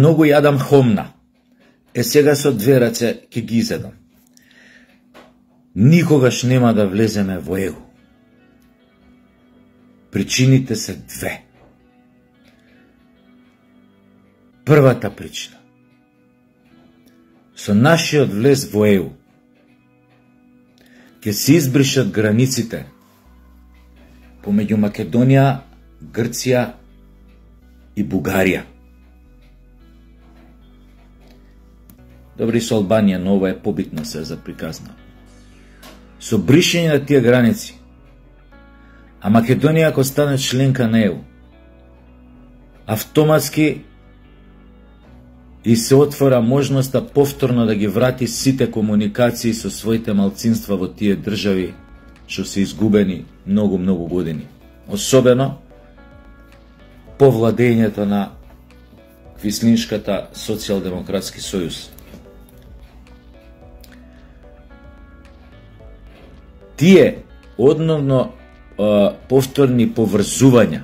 многу јадам хомна. Сега со две раце ќе ги изедам. Никогаш нема да влеземе во ЕУ. Причините се две. Првата причина. Со нашиот влез во ЕУ ќе се избришат границите помеѓу Македонија, Грција и Бугарија. Добри, со Албанија, но ова е побитно се за приказна. Со бришење на тие граници, а Македонија ако стане членка на ЕУ, автоматски и се отвора можноста повторно да ги врати сите комуникации со своите малцинства во тие држави што се изгубени многу години. Особено по владењето на Квислиншката социјалдемократски сојуз. Тие одновно повторни поврзувања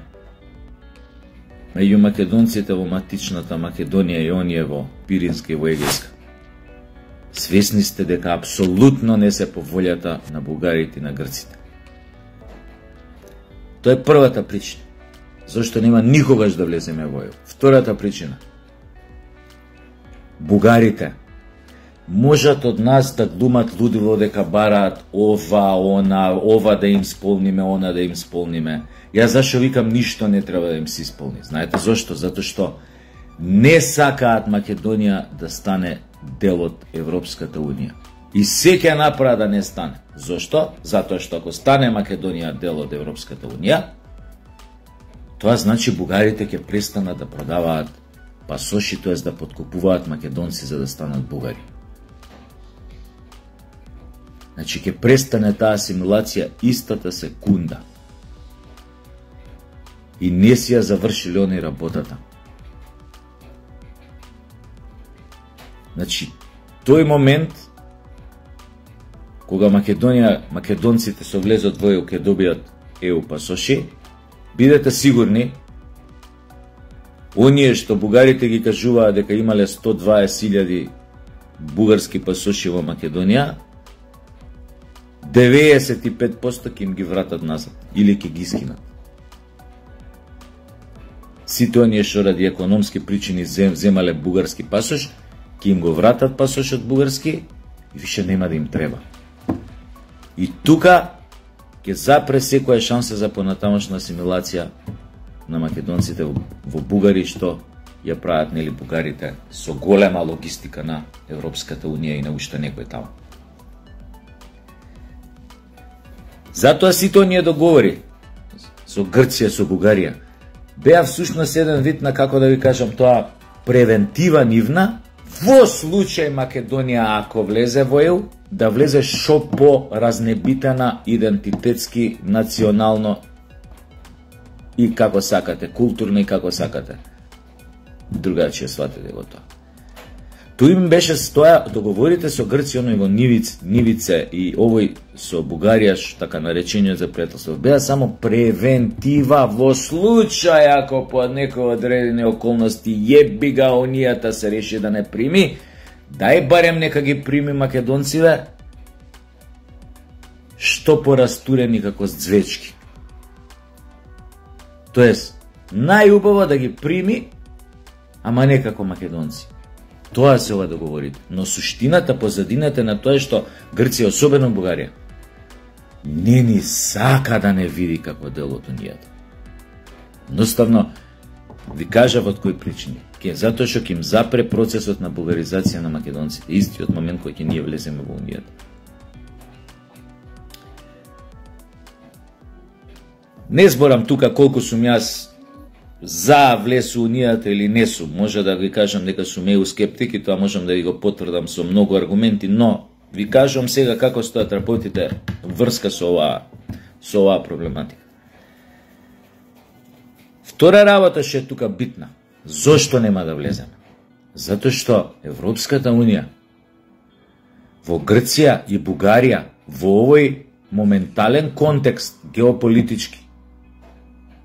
меѓу македонците во матичната Македонија и оние во Пиринска и во Егејска. Свесни сте дека апсолутно не се по волјата на бугарите и на грците. Тоа е првата причина. Зошто нема никогаш да влеземе во ЕУ. Втората причина. Бугарите можат од нас да глумат лудило дека бараат ова да им сполниме, она да им сполниме. Јас зашо викам ништо не треба да им се исполни. Знаете зошто? Затоа што не сакаат Македонија да стане дел од Европската Унија. И се ќе направат да не стане. Зошто? Затоа што ако стане Македонија дел од Европската Унија, тоа значи бугарите ќе престанат да продаваат пасоши, тоест да подкупуваат македонци за да станат бугари. Значи ќе престане таа асимилација истата секунда. И не си ја завршили они работата. Значи, тој момент кога македонците со влезот во ЕУ ќе добијат ЕУ пасоши, бидете сигурни, оние што бугарите ги кажуваат дека имале 120.000 бугарски пасоши во Македонија, 95% ќе им ги вратат назад или ќе ги скинат. Сите оние што ради економски причини земале бугарски пасош, ќе им го вратат пасошот бугарски и више нема да им треба. И тука ќе запре секоја шанса за понатамошна асимилација на македонците во бугари, што ја прават нели бугарите со голема логистика на Европската Унија и на уште некој таму. Затоа сите оние договори со Грција, со Бугарија, беа всушност еден вид на, како да ви кажам тоа, превентива нивна, во случај Македонија ако влезе во ЕУ, да влезе шо по разнебитена идентитетски, национално и како сакате, културно и како сакате. Другачија сватите го тоа. Тој им беше стоја договорите со Грција, оној во Нивице и овој со Бугарија, така наречениот за пријателство, беа само превентива во случај ако по некои одредени околности јеби га онијата се реши да не прими, дај барем нека ги прими македонците, што порастурени како звечки. Тоест, најубаво да ги прими, ама не како македонци. Тоа се ова договорите. Но суштината, позадината на тоа е што Грција, особено Бугарија, не ни сака да не види како дел од унијата. Едноставно, ви кажав од кои причини. Затоа што ќе им запре процесот на бугаризација на македонците, истиот момент кој ќе ние влеземе во унијата. Не зборам тука колку сум јас за влез у унијата или не сум. Може да ви кажам дека сум ЕУ скептик и тоа можам да ви го потврдам со многу аргументи, но ви кажам сега како стојат работите врска со оваа проблематика. Втора работа што е тука битна. Зошто нема да влеземе? Затоа што Европската Унија во Грција и Бугарија во овој моментален контекст геополитички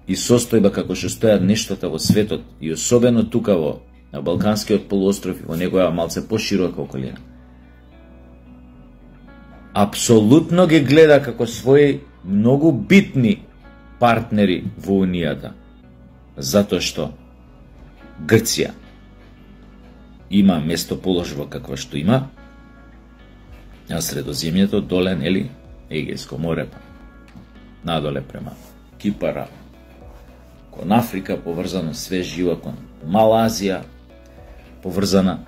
и состојба како што стојат нештата во светот и особено тука во на Балканскиот полуостров и во негова малце поширока околина. Апсолутно ги гледа како своји многу битни партнери во Унијата, затоа што Грција има местоположба каква што има, на Средоземјето, доле, нели, Егејско море, надоле према Кипара, кон Африка поврзано све живо, кон Мала Азија поврзана,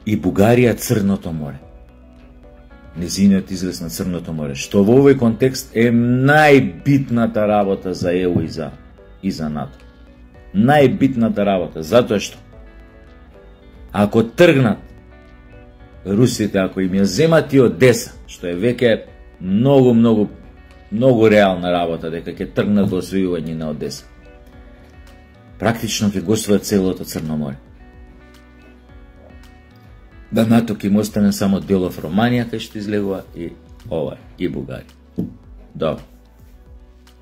и Бугарија Црното море. Незиниот излез на Црното море, што во овој контекст е најбитната работа за ЕУ и за НАТО. Најбитната работа, затоа што ако тргнат русите, ако им ја земат и Одеса, што е веќе многу реална работа, дека ќе тргнат во освојување на Одеса, практично ќе го освојат целото Црно море. Да НАТО ќе им остане само делов Романија, кај што излегува и ова, и Бугарија. Добро.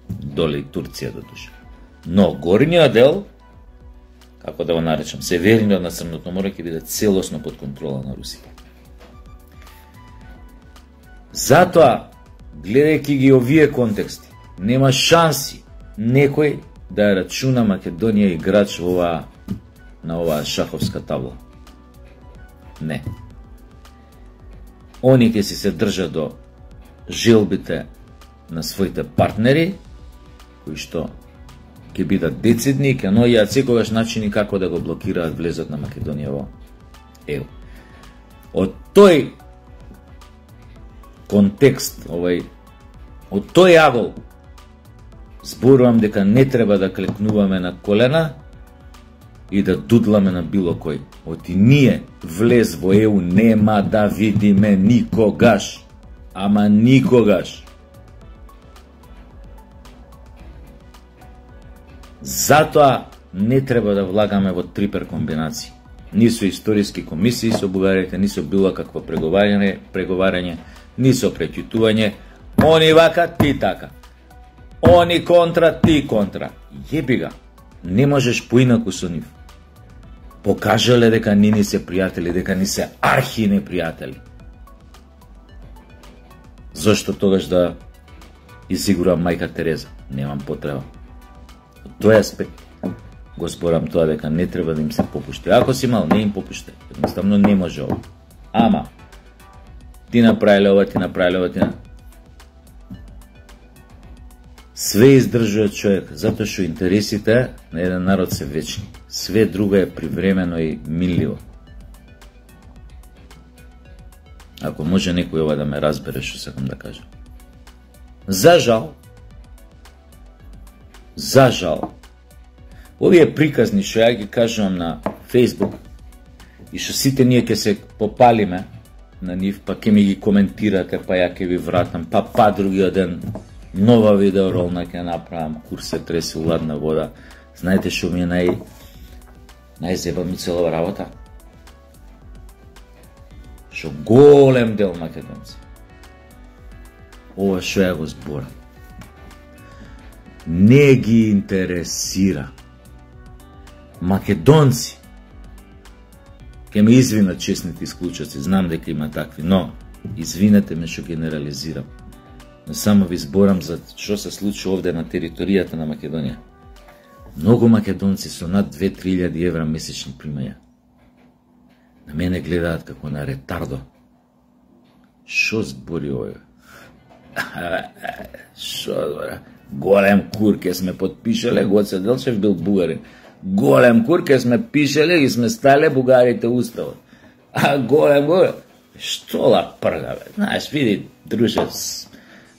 Доле и Турција до душа. Но горниот дел, како да го наречам, северниот на Црното море ќе биде целосно под контрола на Русија. Затоа, гледајќи ги овие контексти, нема шанси некој да ја рачуна Македонија играч на оваа шаховска табла. Не. Они ќе си се држат до желбите на своите партнери, кои што ќе бидат децидни и ќе наоѓаат секогаш начини како да го блокираат влезот на Македонија во ЕУ. Од тој контекст, од тој агол, зборувам дека не треба да клекнуваме на колена и да дудламе на било кој. Оти ние влез во ЕУ нема да видиме никогаш. Ама никогаш. Затоа не треба да влагаме во трипер комбинации. Ни со историски комисии со бугарите, ни со било какво преговарање, ни со преќутување. Они вака, ти така. Они контра, ти контра. Јеби га, не можеш поинаку со нив. Покажале дека ни се пријатели, дека ни се архи непријатели. Зошто тогаш да изигурам мајка Тереза? Немам потреба. Од тој аспект го зборам тоа дека не треба да им се попушти. Ако си мал, не им попушти. Едноставно не може ова. Ама, ти направиле ова, ти направиле ова, ти све издржува човек, затоа што интересите на еден народ се вечни. Све друго е привремено и минливо. Ако може некој ова да ме разбере што сакам да кажам. За жал, овие приказни што ја ги кажувам на Facebook и што сите ние ќе се попалиме на нив, па ќе ми ги коментирате, па ја ќе ви вратам, па другиот ден нова видеоролна ќе направам, кур се тресе уладна вода. Знаете што ми е најзебавно целова работа? Што голем дел македонци, ова што ја го зборам, не ги интересира. Македонци, ќе ме извинат честните исклучаци, знам дека има такви, но извинете ме што генерализирам. Но само ви зборам за што се случи овде на територијата на Македонија. Многу македонци со над 2-3 евра месечни примања на мене гледаат како на ретардо. Што збори овој? Што збори? Голем кур ке сме подпишале, Гоце Делчев бил бугарин. Голем кур ке сме пишале и сме стале бугарите уставот. А голем. Што ла прга, бе? Знаеш, види, друже,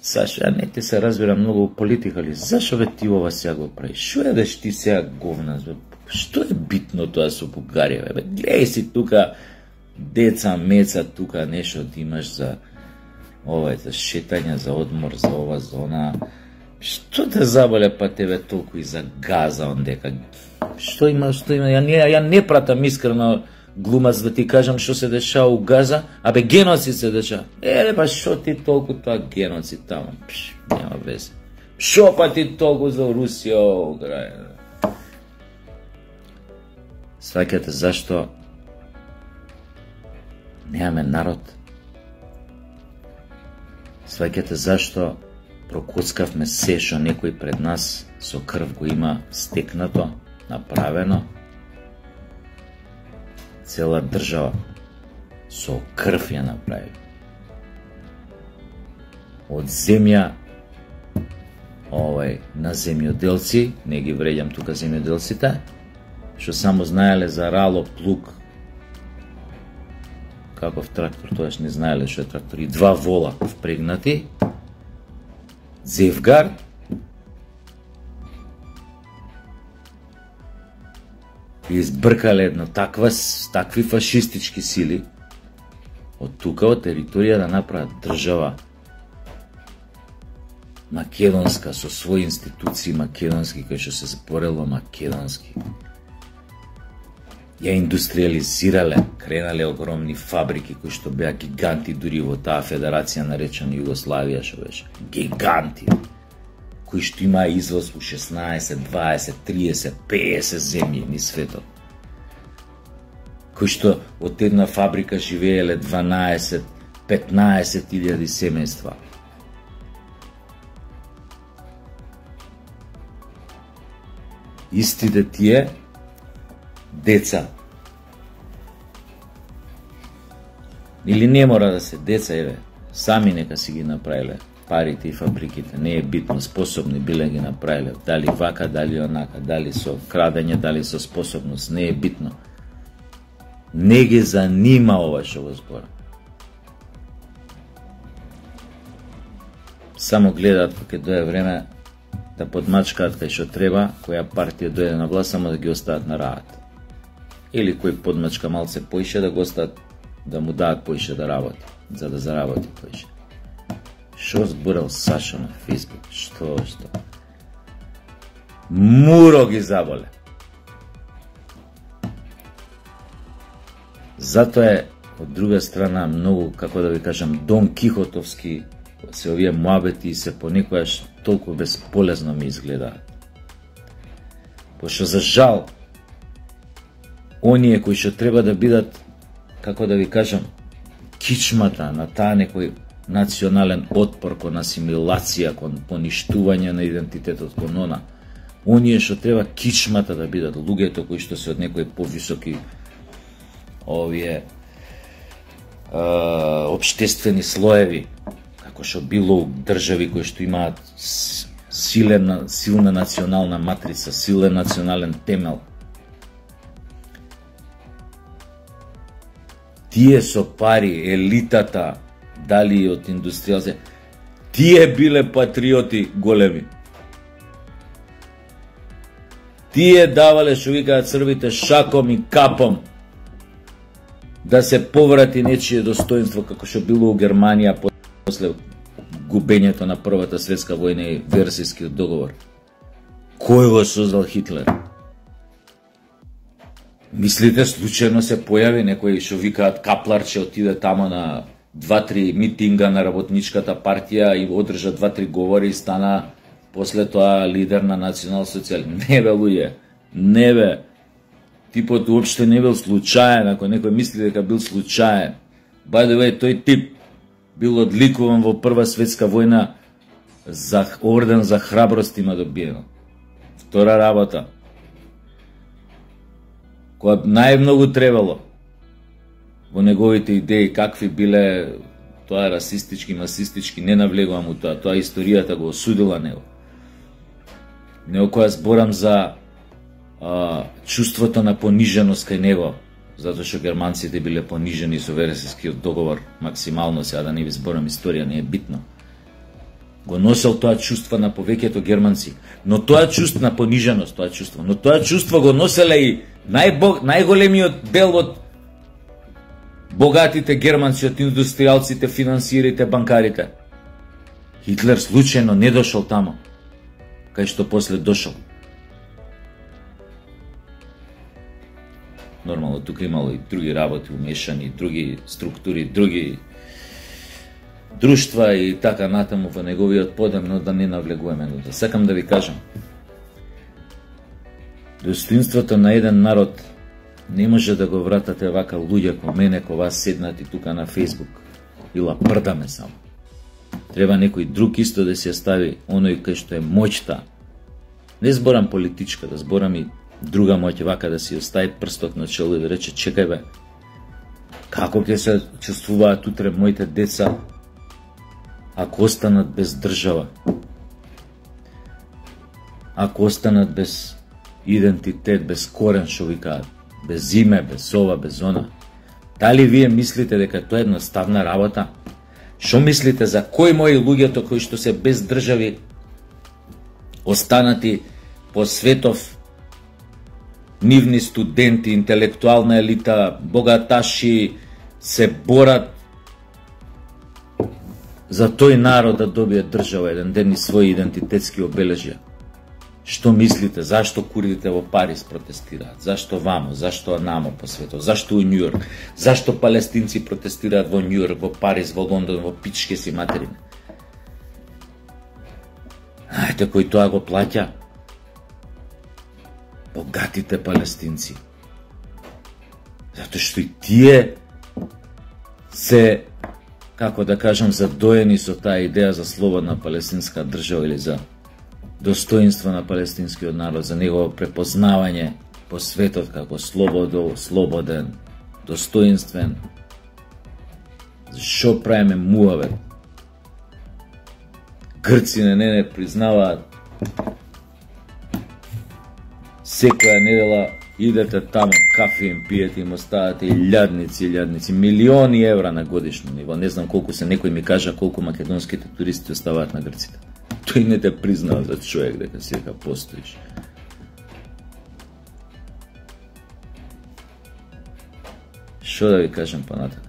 Сашо, ја не те се разбирам многу политика ли, зашо бе ти ова сега го прави? Шо е деш ти сега говна? Што е битно тоа со Бугарија? Бе? Гледај си тука деца, меца, тука нешто ти имаш за ова, за шетање, за одмор, за ова, за она. Што те заболе па тебе толку и за Газа ондека? Што има? Ја не пратам искрено глумац да ти кажам што се дешава у Газа, абе геноцид се дешава. Па што ти толку тоа геноцид таму? Нема везе. Што па ти толку за Русија, Украина? Сваќате зашто немаме народ. Сваќате зашто прокоцкавме се што некој пред нас со крв го има стекнато, направено. Цела држава со крв ја направи. Од земја на земјоделци, не ги вреѓам тука земјоделците, што само знаеле за рало, плуг, каков трактор, тоаш не знаеле што е трактор, и 2 вола впрегнати, Зевгар, и избркале едно такви фашистички сили од тука, од територија да направат држава македонска, со своји институции македонски, кои што се зборело македонски. Ја индустриализирале, кренале огромни фабрики кои што беа гиганти дури во таа федерација наречена Југославија, што беше гиганти, кои што имаа извоз у 16, 20, 30, 50 земји низ светот, кои што од една фабрика живееле 12, 15.000 семејства. Истите тие деца, или не мора да се деца, еве, сами нека си ги направиле парите и фабриките, не е битно, способни биле ги направиле, дали вака, дали онака, дали со крадење, дали со способност, не е битно. Не ги занима ова што го збора. Само гледаат кога дое време да подмачкаат кај што треба, која партија дојде на власт, само да ги остават на раат. Или кој подмачка малце поише, да го остават, да му даат поише да работи, за да заработи поише. Шо зборел Сашо на Фейсбук? Што? Муро ги заболе. Затоа е, од друга страна, многу, како да ви кажам, Дон Кихотовски се овие муабети и се понекојаш толку безполезно ми изгледаат. Пошто за жал, оние кои што треба да бидат, како да ви кажам, кичмата на таа некој национален отпор кон асимилација, кон поништување на идентитетот, кон она, оние што треба кичмата да бидат луѓето кои што се од некои повисоки овие општествени слоеви, како што било држави кои што имаат силна национална матрица, силен национален темел. Тие со пари, елитата, дали од индустријалци, тие биле патриоти големи. Тие давале, што викаат црвите, шаком и капом да се поврати нечие достоинство, како што било у Германија после губењето на Првата светска војна и Версајскиот договор. Кој го создал Хитлер? Мислите случајно се појави некој што викаат Капларче, отиде тамо на 2-3 митинга на работничката партија и одржа 2-3 говори и стана после тоа лидер на национал-социјал? Не бе, луѓе, не бе. Типот уопште не бил случаен, ако некој мисли дека бил случаен. By the way, тој тип бил одликуван во Прва светска војна, за орден за храброст има добиено. Втора работа, која најмногу требало во неговите идеи, какви биле, тоа е расистички, масистички, не навлегувам у тоа историјата го осудила него. Него која зборам за чувството на пониженост кај него, затоа што германците биле понижени со Версајскиот договор максимално, сега да не ви зборам историја, не е битно. Го носел тоа чувство на повеќето германци, но тоа чувство на пониженост, но тоа чувство го носеле и најголемиот дел од богатите германци, од индустријалците, финансирите, банкарите. Хитлер случајно не дошол тамо, кај што после дошол. Нормално, тука имало и други работи умешани, други структури, други друштва и така натаму во неговиот подем, но да не навлегуваме. Но да сакам да ви кажам, достоинството на еден народ Не може да го вратате вака луѓе ко мене, ко вас седнати тука на Facebook. Ила прдаме само. Треба некој друг исто да се стави оној кај што е моќта. Не зборам политичка, да зборам и друга моќ, вака да си остави прстот на чело и да рече, чекај бе, како ќе се чувствуваат утре моите деца ако останат без држава, ако останат без идентитет, без корен, шо викаат, без име, без ова, без она. Дали вие мислите дека тоа е едноставна работа? Шо мислите за кои мои луѓето кои што се без држави останати по светов, нивни студенти, интелектуална елита, богаташи се борат за тој народ да добие држава еден ден и своји идентитетски обележја? Што мислите? Зашто курдите во Париз протестираат? Зашто вамо? Зашто намо по светот? Зашто у Њујорк? Зашто палестинци протестираат во Њујорк, во Париз, во Лондон, во пичке си материне? Знаете кој тоа го плаќа? Богатите палестинци. Затоа што и тие се, како да кажам, задоени со таа идеја за слободна палестинска држава или за достоинство на палестинскиот народ, за негово препознавање по светот како слободен, достоинствен. Зашо правиме муавет? Грци не признаваат. Секоја недела идете таму, кафе им пиете, им оставате илјадници, милиони евра на годишно ниво. Не знам колку се, некој ми кажа колку македонските туристи оставаат на грците. Тој не те признава за човек дека сека постоиш. Шо да ви кажам понатака?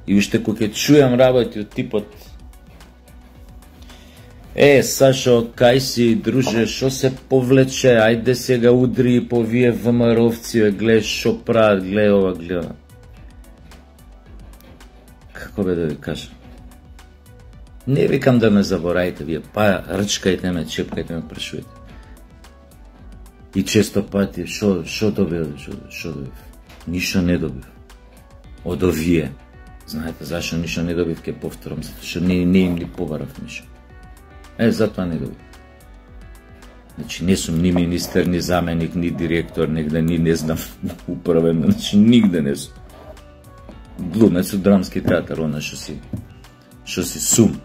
И уште кога ќе чујам работи од типот: Сашо, кај си, друже, шо се повлече, ајде сега удри и по вие ВМРО-вци, гледа шо прават, гледа ова, гледа. Како бе да ви кажам? Не викам да ме заборајте вие, па рчкајте ме, чепкајте ме, прашувајте. И често пати, шо добив? Ништо не добив. Од овие. Знаете зашо ништо не добив, ке повторам, затоа што не им ли побарав ништо. Затоа не добив. Значи, не сум ни министер, ни заменик, ни директор, негде, ни не знам, управен, значи, нигде не сум. Глумец од драмски театар, она шо си сум.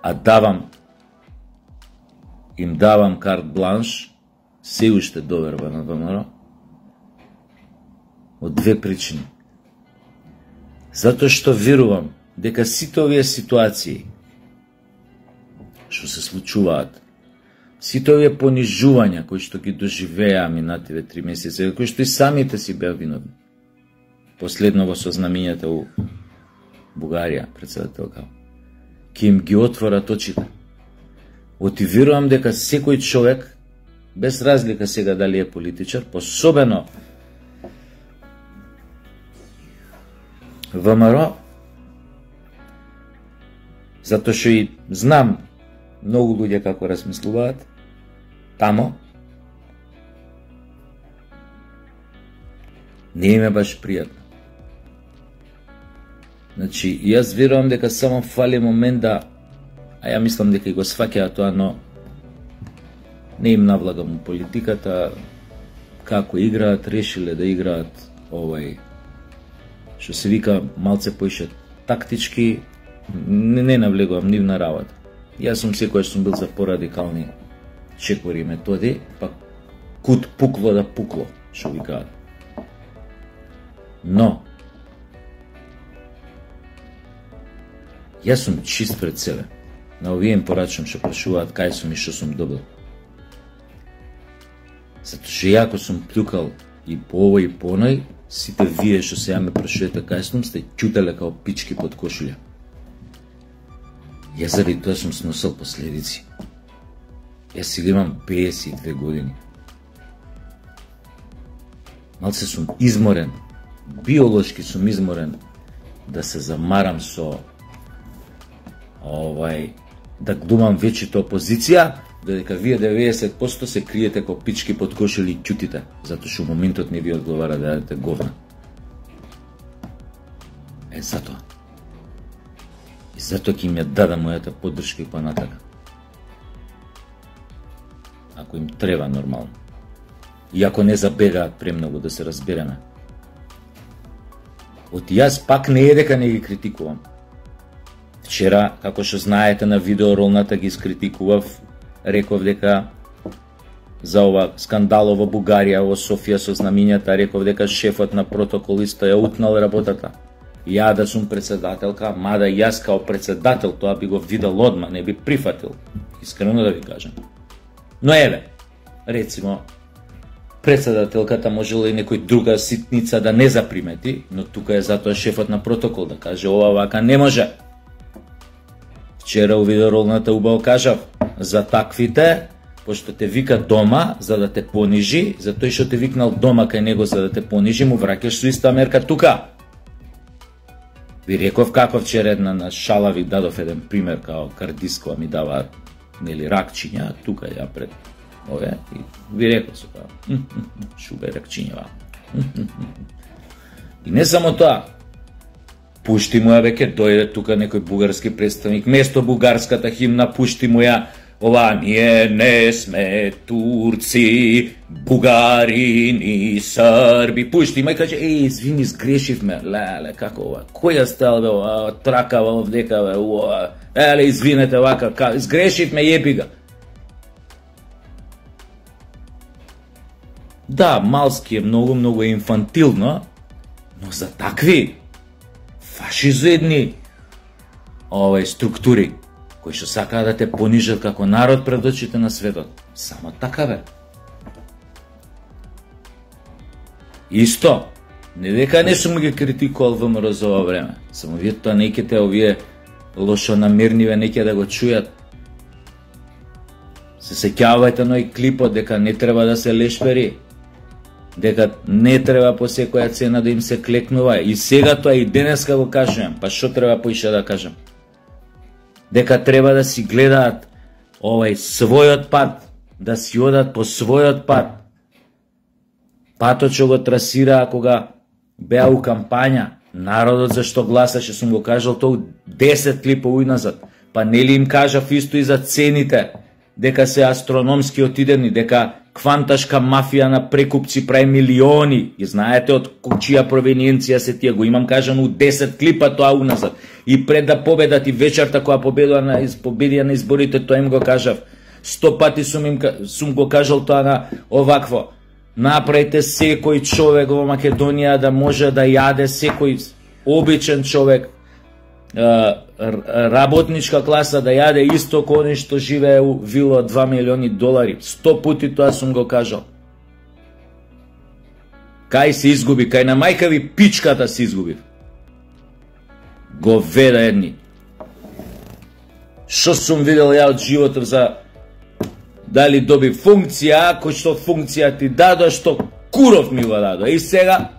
А им давам карт бланш, се уште доверба на ВМРО, од две причини. Затоа што верувам дека сите овие ситуации што се случуваат, сите овие понижувања кои што ги доживеа минативе 3 месеци, кои што и самите си беа виновни. Последно во сознамињата у Бугарија, председателка, ќе им ги отворат очите. Оти верувам дека секој човек, без разлика сега дали е политичар, пособено ВМРО, затоа што и знам многу луѓе како размислуваат тамо, не им е баш пријатно. Значи, јас верувам дека само фали момент да, а ја мислам дека и го сваќаат тоа, но не им навлагам политиката, како играат, решиле да играат што се вика малце поише тактички, не навлегувам нивна работа. Јас сум секојаш сум бил за порадикални чекори и методи, па кут пукло да пукло, што викаат. Но јас сум чист пред себе. На овие им порачам што прашуваат кај сум и што сум добил. Затоа што јако сум плюкал и по овој и по оној, сите вие што сега ме прашувате кај сум, сте ќутеле као пички под кошулја. Јас заради тоа сум сносил последици. Јас сега имам 52 години. Малце сум изморен, биолошки сум изморен да се замарам со да глумам вечето опозиција, додека вие 90% се криете ко пички под кошели и ќутите, затоа што моментот не ви одговара да јадете говна. Затоа. И затоа ќе им ја дадам мојата поддршка и понатака. Ако им треба нормално. И ако не забегаат премногу, да се разбереме. Јас пак не е дека не ги критикувам. Вчера, како што знаете на видеоролната ги скритикував, реков дека за ова скандало во Бугарија, во Софија со знамињата, реков дека шефот на протоколиста ја утнал работата. Ја да сум председателка, мада јас као председател тоа би го видел одма, не би прифатил. Искрено да ви кажам. Но еве, рецимо, председателката можела и некој друга ситница да не запримети, но тука е затоа шефот на протокол да каже ова вака не може. Вчера у видеоролната убаво кажав, за таквите, пошто те вика дома за да те понижи, за тој што те викнал дома кај него за да те понижи, му враќаш со иста мерка тука. Ви реков како вчера една на шала ви дадов еден пример, као кардискова ми дава нели ракчиња, тука ја пред ове, и ви реков се као, шубе ракчињава. И не само тоа, пушти му ја веќе дојде тука некој бугарски представник, место бугарската химна пушти му ја ова ние не сме турци, бугарини, срби, пушти му и каже, извини, сгрешивме, леле, како ова, која стел бе ова, тракава овдека бе, ова, извинете вака, сгрешивме, јеби га. Да, малски е многу инфантилно, но за такви фашизоидни структури, кои што сакаат да те понижат како народ пред очите на светот. Само така бе. Исто, не дека не сум ги критикувал ВМРО за ова време, само вие тоа неките овие лошонамерниве неќе да го чујат. Се сеќавајте на ој клипот дека не треба да се лешпери, дека не треба по секоја цена да им се клекнува. И сега тоа и денеска го кажувам, па што треба поише да кажам? Дека треба да си гледаат својот пат, да си одат по својот пат. Патот што го трасираа кога беа у кампања, народот зашто гласаше, сум го кажал тоа 10 клипови назад. Па нели им кажав исто и за цените, дека се астрономски отидени, дека кванташка мафија на прекупци прави милиони. И знаете од чија провениенција се тие, го имам кажано у 10 клипа тоа уназад. И пред да победат и вечерта која победија на изборите, тоа им го кажав. 100 пати сум го кажал тоа на овакво. Направите секој човек во Македонија да може да јаде, секој обичен човек, работничка класа да јаде исто кој што живее у вила од $2 милиони. 100 пути тоа сум го кажал. Кај се изгуби, кај на мајка ви пичката се изгуби. Говеда едни. Што сум видел ја од животот за дали доби функција, кој што функција ти дадо, што куров ми го дадо. И сега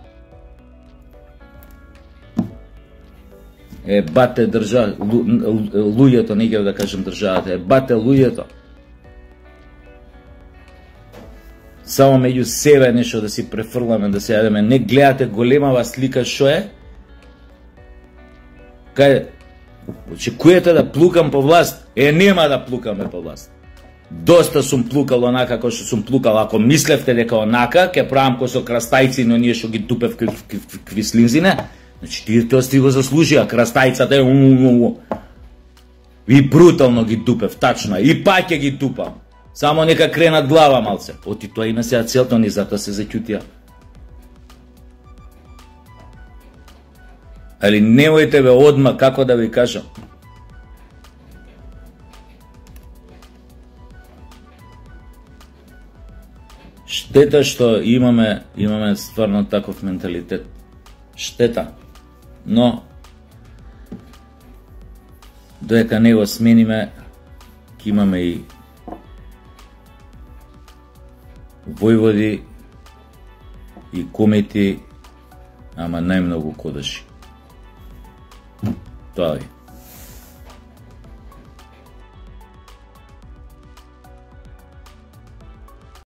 бате луѓето, не ќе да кажем државата, бате луѓето. Само меѓу себе нешто да си префрламе, да се јадеме. Не гледате големава слика што е? Кај очекувате да плукам по власт? Нема да плукаме по власт. Доста сум плукал онака како што сум плукал. Ако мислевте дека онака ќе правам ко со крастајци, но ние што ги тупев квислинзине, значи тие тоа сти го заслужија, крастајцата е и брутално ги тупев, тачно, и пак ќе ги тупам. Само нека кренат глава малце. Оти тоа има сега целта, ни затоа се заќутија. Али немојте бе одма, како да ви кажам. Штета што имаме стварно таков менталитет. Штета. Но додека не го смениме, ќе имаме и војводи и комети, ама најмногу кодаши. Тоа е.